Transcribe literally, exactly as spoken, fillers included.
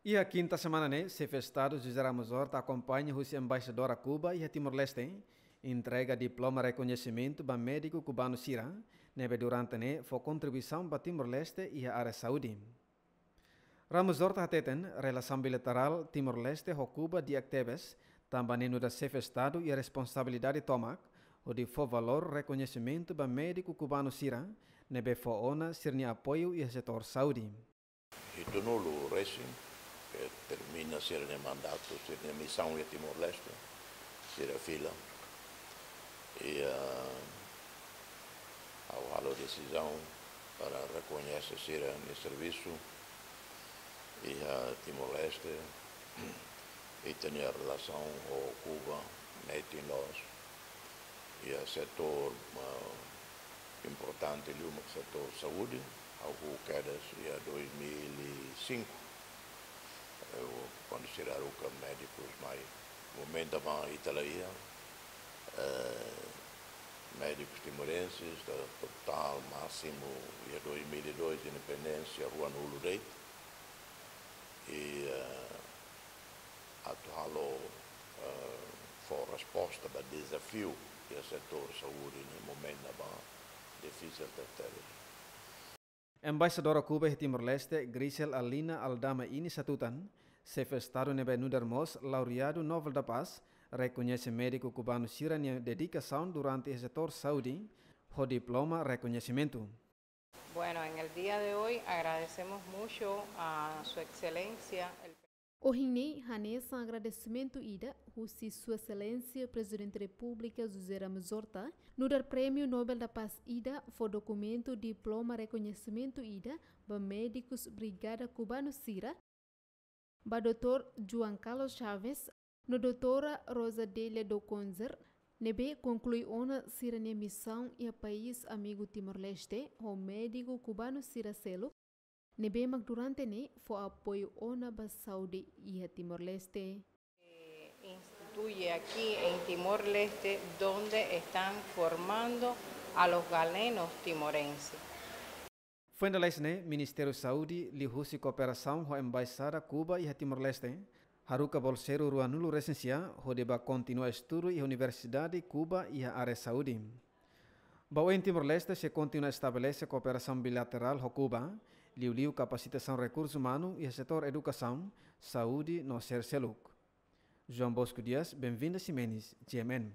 Iha kinta semana ne'e, Xefe Estadu José Ramos Horta akompaña husi Embaixadora Kuba iha Timor-Leste, entrega diploma rekoñesimentu ba médiku kubanu sira, ne'ebé durante ne'e fó kontribuisaun ba Timor-Leste iha área saúde. Ramos Horta hateten, relasaun bilaterál Timor-Leste ho Kuba di'ak tebes, tanba ne'e nu'udar Xefe Estadu iha responsabilidade tomak hodi fó valór rekoñesimentu ba médiku kubanu sira, ne'ebé fó ona sira-nia apoiu iha setór saúde. Hitunulu resin, ke termina sira-nia mandatu, sira-nia misaun iha Timor-Leste, sira fila. I, ah, ha'u halo desizaun para rekoñese sira-nia servisu iha Timor-Leste, ita-nia relasaun ho Kuba, netin loos, iha setór, ah, importante liu mak setór saúde, ha'u hahú kedas iha dois mil e cinco. Ha'u, kuandu sira haruka médikus mai, momentu ne'ebá ita la iha, eh, médikus timorenses, ta-, totál másimu iha dois mil e dois, independénsia, ruanulu de'it. I, eh, atu halo, eh, fó resposta ba dezafiu iha setór saúde ne'e momentu ne'ebá difisil tebetebes. Embaixadora Kuba iha Timor-Leste, Grisel Alina Aldama Inis hatutan, Xefe Estadu ne'ebé nu'udar mós laureadu Nobel da Paz, rekoñese médiku kubanu sira-nia dedikasaun durante iha setór saúde, ho diploma rekoñesimentu. Bueno, en el día de hoy agradecemos mucho a Su Excelencia el Ohin ne'e hanesan agradesimentu ida husi Sua Exelénsia Prezidente Repúblika José Ramos Horta, nu'udar Prémiu Nobel da Paz ida fó dokumentu diploma rekoñesimentu ida ba médikus brigada kubanu sira, ba doutór João Carlos Chaves no doutora Rosa Delia do Conzer, ne'ebé konklui ona sira-nia misaun iha país amigu Timor-Leste, ho médiku kubanu sira seluk, ne'ebé mak durante ne'e fó apoiu ona ba saúde iha Timor-Leste. Eh, instituye aquí en Timor-Leste, donde están formando a los galenos timorenses. Foin lalais ne'e, Ministériu Saúde, liuhusi kooperasaun ho Embaixada Kuba iha Timor-Leste, haruka bolseiru ruanulu resin sia, hodi bá kontinua estudu iha Universidade Kuba iha área saúde. Ba oin Timor-Leste sei kontinua estabelese kooperasaun bilaterál ho Kuba, liuliu kapasitasaun rekursu umanu iha setór edukasaun, saúde no sira seluk. João Bosco Dias, Benvinda Ximenes, G M N.